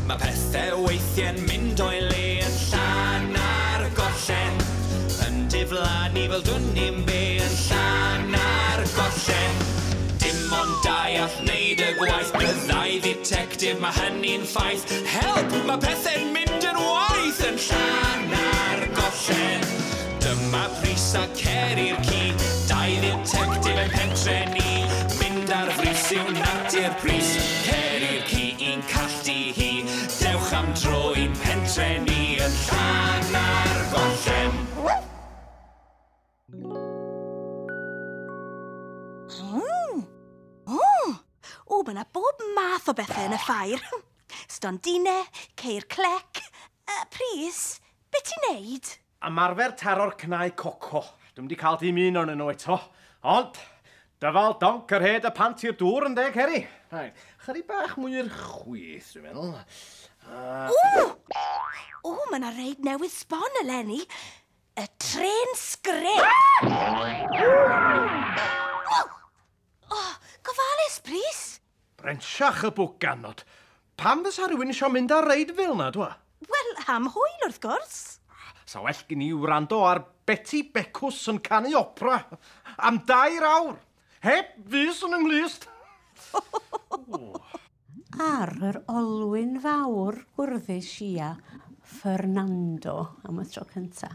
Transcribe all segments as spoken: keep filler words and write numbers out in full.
Mae pethau weithiau'n mynd o'i le yn Llanargollen. Yn diflannu fel dwn i'm be yn Llanargollen. Dim ond dau all wneud y gwaith, byddai dditectif, mae hynny'n ffaith. Help! Mae pethau'n mynd yn waeth yn Llanargollen. Dyma Prys a Ceri'r ci, dau dditectif yn pentre ni. Mynd ar frys yw natur Prys, Ceri'r ci i'n calltu hi. Dewch am dro i'n pentre ni yn Llanargollen. Mm. O, o, mae yna bob math o bethau yn y ffair. Stondinau, ceir clec. Uh, Prys, be ti'n neud? Ymarfer taro'r cnau coco. Dwi'm wedi cael dim un ohonyn nhw eto. Ond, dyfal donc yr hed y pant i'r dŵr yn deg, Ceri. Right. Chydig bach mwy i'r chwith, dwi'n meddwl. Uh... O! O, mae yna reid newydd sbon eleni. Y tren sgrech. O, gofalus, Prys. Brensiach y bwganod. Pam fysa rhywun eisiau mynd ar reid fel yna, dwa? Wel, am hwyl, wrth gwrs. Sa well gen i wrando ar Betty Becws yn canu opera am dair awr. Heb fus yn ynglust. Ar yr olwyn fawr gwrddis i a Fernando am y tro cynta.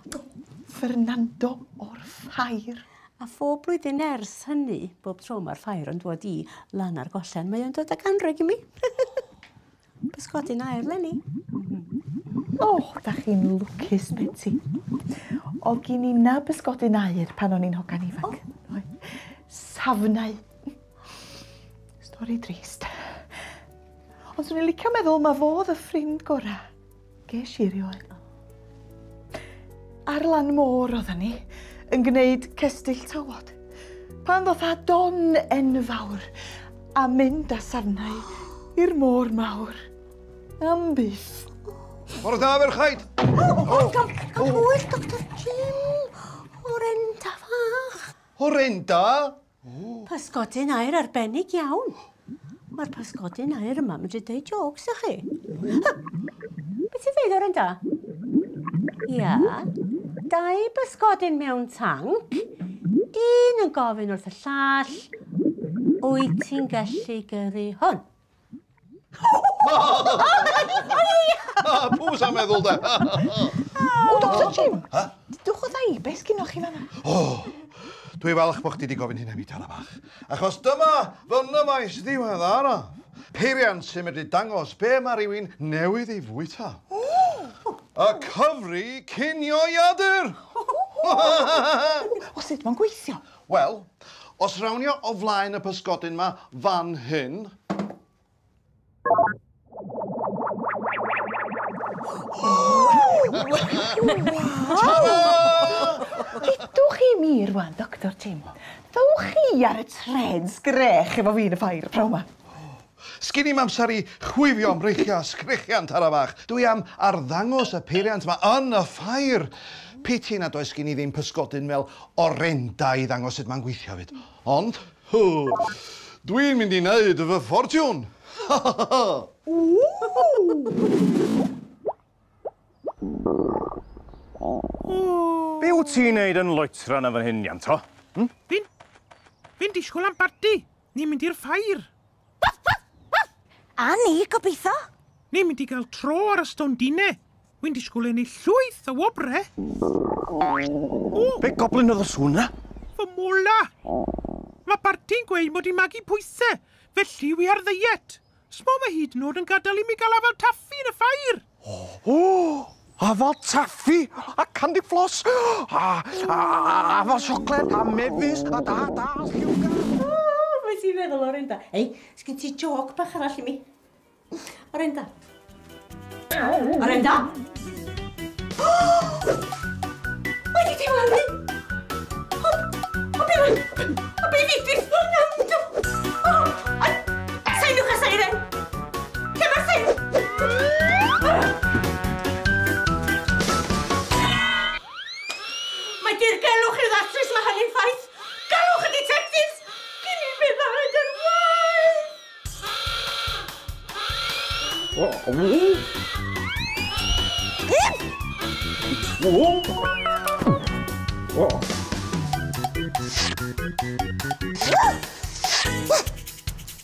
Fernando o'r ffair. A phob blwyddyn ers hynny, bob tro mae'r ffair yn dod i Lanargollen, mae o'n dod ag anrheg i mi. Pysgodyn aur leni. O, oh, da chi'n lwcus, Betty. Oedd gen i na bysgodyn aur pan o'n i'n hogan ifanc. Oh. Safnau. Stori drist. Ond swn i'n licio meddwl ma fo oedd y ffrind gora. Ges i erioed. Ar lan môr oedden ni, yn gwneud cestyll tywod. Pan ddoth â don enfawr a mynd â safnau i'r môr mawr. Am byth. Bore da, ferchaid! O, gael hwyl, Doctor Jim! Orenda fach! Orenda? Pysgodyn aur arbennig iawn. Mae'r pysgodyn aur yma medru deud jôcs i chi. Beth ti'n dweud, Orenda? Ia, dau bysgodyn mewn tanc, un yn gofyn wrth y llall, wyt ti'n gallu gyrru hwn? Pw sa'n meddwl de? O, Doctor Jim, dwch o ddau, beth sgynnoch chi fan'na? O, dwi falch bod chdi wedi gofyn hynna mi, Tara bach. Achos dyma fy nyfais ddiweddaraf. Peiriant sy'n medru dangos be mae rhywun newydd ei fwyta. Y cyfri cinioiadur! O, sut mae'n gweithio? Wel, os rawnio o flaen y pysgodyn ma fan hyn... Dudwch i mi rwan, Doctor Jim. Ddowch chi ar y tren sgrech efo fi yn y ffair prawn ma. Sgin i'm amser i chwifio am breichiau sgrechian, Tara bach. Dwi am arddangos y peiriant ma yn y ffair. Piti nad oes gen i ddim pysgodyn fel Orenda i ddangos sut mae'n gweithio fyd. Ond, dwi'n mynd i wneud fy ffortiwn. Be wyt ti'n neud yn loetran yn fan hyn, Ianto? Hm? Fi'n... Fi'n disgwyl am barti. Ni'n mynd i'r ffair. A ni, gobeithio. Ni'n mynd i gael tro ar y stondinau. Wy'n disgwyl ennill llwyth o wobre. O! Be goblin oedd y sŵn na? Fy mola! Mae Barti'n gweud mod i'n magu pwysau, felly wi ar ddiet. Smo mae hyd yn oed yn gadael i mi gael afal taffi yn y ffair. O! O! Afal taffi a candy floss a, a, a afal siocled a mefus a da da lliwgar. O, beth ti'n meddwl, Orenda? Ei, sgyn ti jôc bach arall i mi? Orenda. Orenda! Mae di diflannu! O, o be ma... O be ddigwydd Fernando? O, a... Seinwch a seiren! Lle mae'r seiren? Mae dirgelwch i'w ddatrys, mae hynny'n ffaith. Galwch y detectives! Cyn i bethau mynd yn waeth!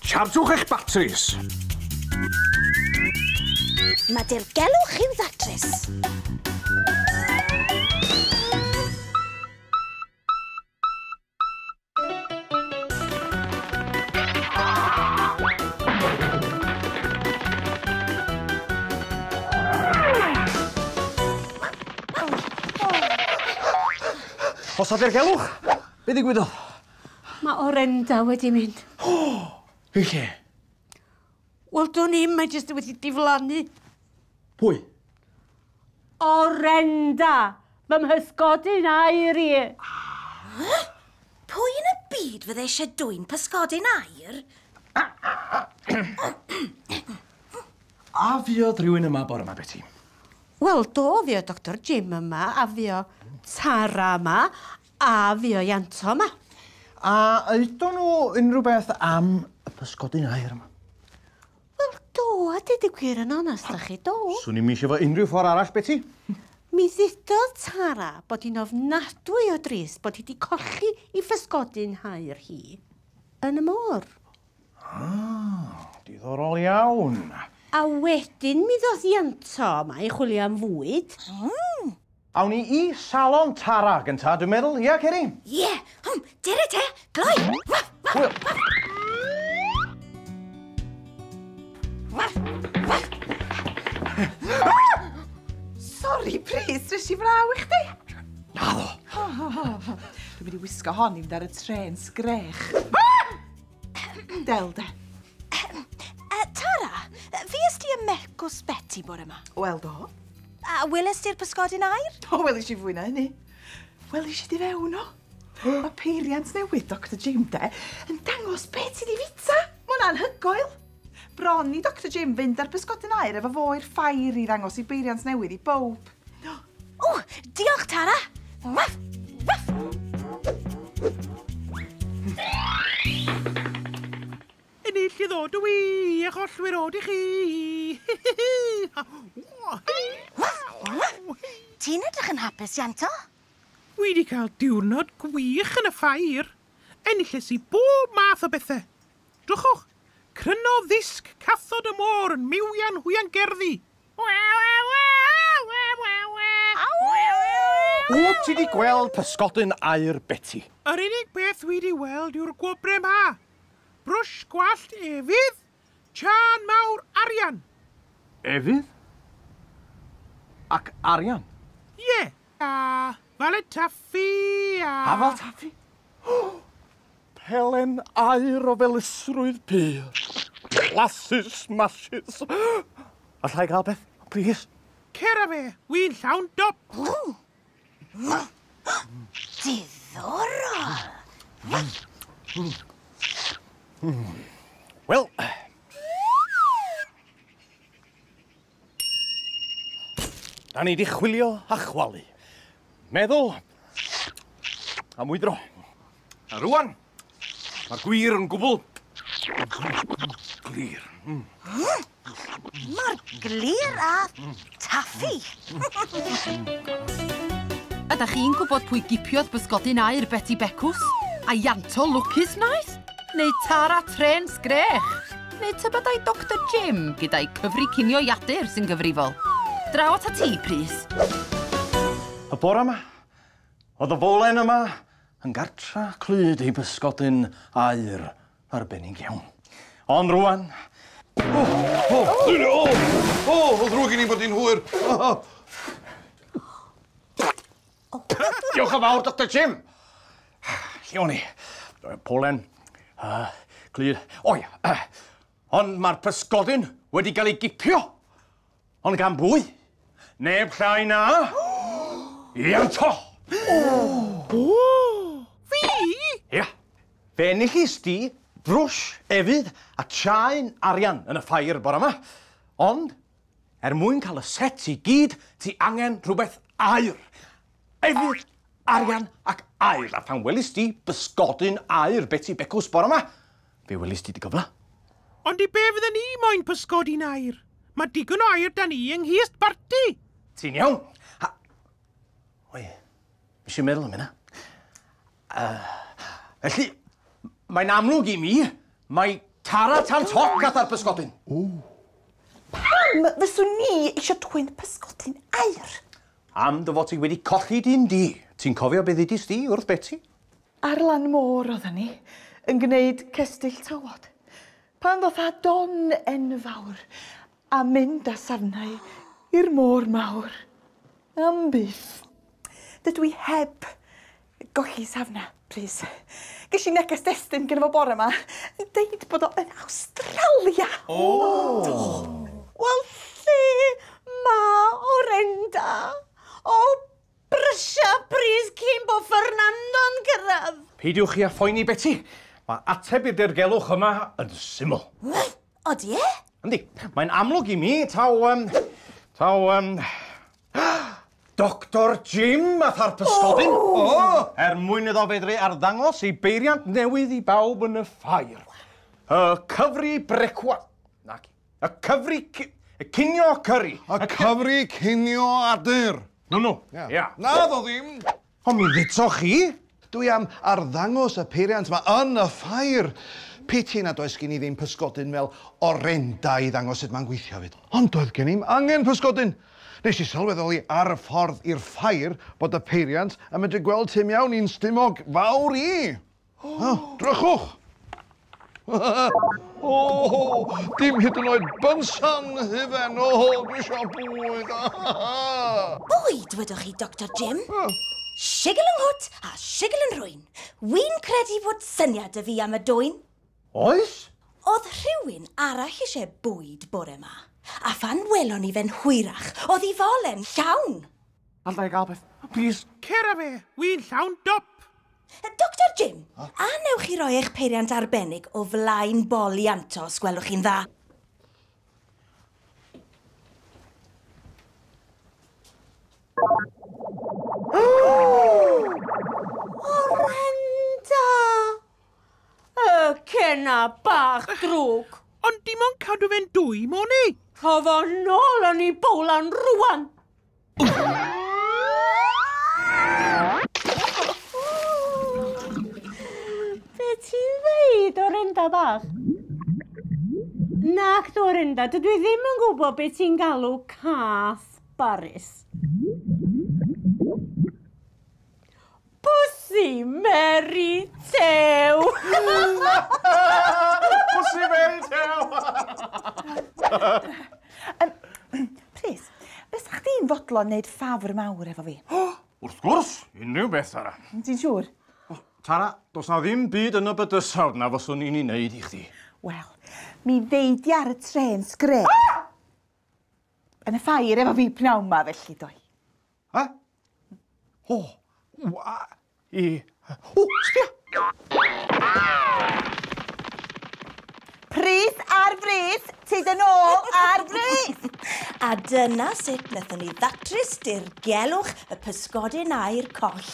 Chargwch eich batris. Mae dirgelwch i'w ddatrys. Os a dirgelwch, be ddigwyddodd? Mae Orenda wedi mynd. I lle? Wel, dwn i'm, mae jyst wedi diflannu. Pwy? Orenda! Fy mhysgodyn aur i. Pwy yn y byd fydde eisiau dwyn pysgodyn aur? A fuodd rhywun yma bore yma, Beti? Wel, do, fuodd Doctor Jim yma, a fuodd Tara yma, a fuodd Ianto yma. A oedon nhw unrhyw beth am y pysgodyn aur yma? Wel, do, a deud y gwir yn onast â chi, do. Swn i'm eisiau fo unrhyw ffordd arall, Beti. Mi ddudodd Tara bod hi'n ofnadwy o drist bod hi wedi colli ei physgodyn haur hi yn y môr. Ah, diddorol iawn. A wedyn mi ddoth Ianto yma i chwilio am fwyd. Mm. Awn ni i salon Tara gynta, dwi'n meddwl. Ia, Ceri? Ie, hwm, dere te, gloi! Waff, waff, waff! Waff, waff! Sori, Prys, rys i fraw i chdi. Naddo. Dwi'n mynd i wisgo hon i fynd ar y tren sgrech. Del de. Tara, fues di ym Mecws Betty bore yma? Wel, do. A weles di'r pysgodyn aur? O, welis i fwy na hynny. Welis i di fewn o. Mae peiriant newydd Doctor Jim de yn dangos beth ti di fita. Mae hwnna'n anhygoel. Bron i Doctor Jim fynd ar bysgodyn aur efo fo i'r ffair i ddangos i beiriant newydd i bawb. O, diolch Tara. Waff, waff. Ennill i ddod i, a chollwyr od i chi. Ti'n edrych yn hapus, Ianto? Wi wedi cael diwrnod gwych yn y ffair. Enilles i bob math o bethau. Drychwch, cryno ddisg cathod y môr yn miwian hwyan gerddi. Wyt ti wedi gweld pysgodyn aur Beti? Yr unig beth wi wedi weld yw'r gwobre yma. Brwsh gwallt efydd, chân mawr arian. Efydd? Ac arian? Ie, yeah. A falet taffi a... Afal taffi? Pelen aur o felysrwydd pur. Blasus masys. Alla i gael beth, please? Cer â fe, wi'n llawn dop. Diddorol. Wel, da ni di chwilio a chwalu. Meddwl a mwydro. A rwan, mae'r gwir yn gwbl glir. Mm. Mor glir a taffi. Ydych chi'n gwybod pwy gipiodd bysgodyn aur Beti Becws? A Ianto lwcus wnaeth? Neu Tara Tren Sgrech? Neu tybed ai Doctor Jim gyda'i cyfri cinio iadur sy'n gyfrifol? Draw at ti, Prys. Y bore yma, oedd y folen yma yn gartra clyd ei bysgodyn aur arbennig iawn. Ond rwan... O, o, o, o, o, ddrwg i ni bod hi'n hwyr. Diolch yn fawr, Doctor Jim. Lle o'n i? Polen, uh, clyd... O ia, uh, ond mae'r pysgodyn wedi cael ei gipio. Ond gan bwy? Neb llai na... Ianto! O! Fi? Ia. Fe enillist di brwsh efydd a chaen arian yn y ffair bore yma. Ond, er mwyn cael y set i gyd, ti angen rhywbeth aur. Efydd, arian ac aur. A phan welist di bysgodyn aur Beti Becws bore yma, fe welist di dy gyfle. Ond i be fydden ni moyn pysgodyn aur? Mae digon o air da ni yng nghist Barti. Ti'n iawn. Ha. Oi, mis i'n meddwl am hynna. Uh, felly, mae'n amlwg i mi, mae Tara tan toc gath ar bysgodyn. O. Pam fyswn ni eisiau dwyn pysgodyn aur? Am dy fod ti wedi colli dyn di. Ti'n cofio beth ddudis di wrth Beti? Ar lan môr oedden ni, yn gwneud cestyll tywod. Pan ddoth â don enfawr a mynd â safnau i'r môr mawr. Am byth. Dydw i heb golli safna, plis. Ges i neges destun gyda fo bore yma, yn deud bod o yn Awstralia. O! Wel, lle ma Orenda? O, brysia Prys cyn bo Fernando'n cyrraedd. Peidiwch chi â phoeni, Beti. Mae ateb i'r dirgelwch yma yn syml. Odi e? Yndi, mae'n amlwg i mi taw... Um, taw... Um, Doctor Jim ath ar pysgodyn. O! Oh. Er mwyn iddo fedru arddangos ei beiriant newydd i bawb yn y ffair. Y cyfri brecwa... Naci. Y cyfri... Y cinio curry. Y cyfri cinio adur. No, no. Ia. Yeah. Na, ddo ddim. Ond mi ddutoch chi. Dwi am arddangos y peiriant yma yn y ffair. Piti nad oes gen i ddim pysgodyn fel Orenda i ddangos sut mae'n gweithio fyd. Ond doedd gen i'm angen pysgodyn. Nes i sylweddoli ar y ffordd i'r ffair bod y peiriant yn medru gweld tu mewn i'n stumog fawr i. Oh. Oh, drychwch! O, dim hyd yn oed bynsan hufen. O, dwi eisiau bwyd. Bwyd, wedwch chi, Doctor Jim? Oh. Sigl yng nghwt a sigl yn rhwy'n. Wi'n credu bod syniad y fi am y dwyn. Oes? Oedd rhywun arall eisiau bwyd bore yma. A phan welon ni fe'n hwyrach, oedd i folen llawn. Alla i gael beth, please. Cer â fe, wi'n llawn dop. Doctor Jim, a newch chi roi eich peiriant arbennig o flaen bol Ianto, os gwelwch chi'n dda? Orenda! Y cena bach drwg. Ond dim ond cadw fe'n dwy, mon i. Rho fo nôl yn ei bowlan rwan. Be ti'n ddeud, Orenda bach? Nac, Orenda, dydw i ddim yn gwybod be ti'n galw cath Baris. Pussy Mary Tew! Pussy Mary Tew! um, Prys, beth sa'ch chdi'n fodlon wneud ffafr mawr efo fi? Wrth gwrs, unrhyw beth, Tara. Ti'n siŵr? Oh, Tara, does na ddim byd yn y bydysawd na fyswn i'n ei wneud i chdi. Wel, mi ddeudi ar y tren sgre. Ah! Yn y ffair efo fi pnawn ma felly, doi. Ha? O, wa, i... O, sbia! Prys ar frys, tyd yn ôl ar frys! A dyna sut wnaethon ni ddatrys dirgelwch y pysgodyn aur coll.